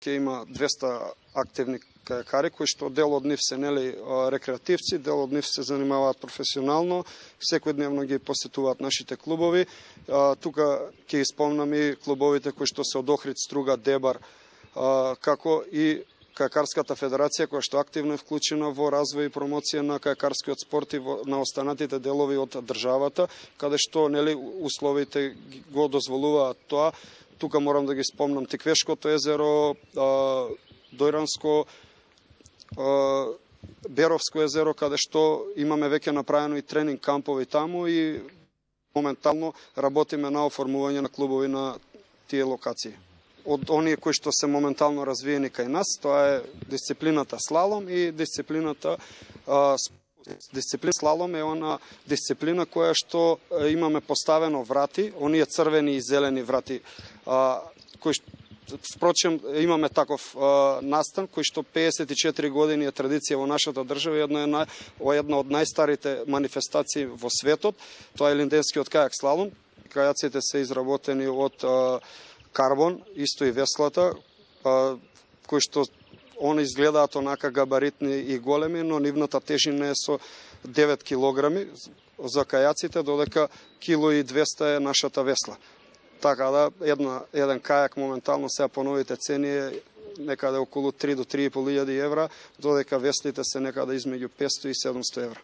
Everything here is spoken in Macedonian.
ќе има 200 активни кајакари, кои што дел од нив се рекреативци, дел од нив се занимаваат професионално, секојдневно ги посетуваат нашите клубови. Тука ќе испомнам и клубовите кои што се од Охрид, Струга, Дебар, како и Кајакарската федерација, која што активно е вклучена во развој и промоција на кајакарскиот спорт и на останатите делови од државата, каде што условите го дозволуваат тоа. Тука морам да ги спомнам Тиквешкото езеро, Дојранско, Беровско езеро, каде што имаме веќе направено и тренинг кампови таму и моментално работиме на оформување на клубови на тие локации. Од оние кои што се моментално развиени кај нас, тоа е дисциплината слалом и дисциплината слалом е она дисциплина која што имаме поставено врати, оние црвени и зелени врати, кои впрочем имаме таков настан кој што 54 години е традиција во нашата држава и една од најстарите манифестации во светот, тоа е линденскиот кајак слалом. Кајаците се изработени од карбон, исто и веслата, кои што они изгледаат онака габаритни и големи, но нивната тежина е со 9 килограми за кајаците, додека 1,200 е нашата весла. Така да, еден кајак моментално сега по новите цени е некаде околу 3 до 3.500 евра, додека веслите се некаде измеѓу 500 и 700 евра.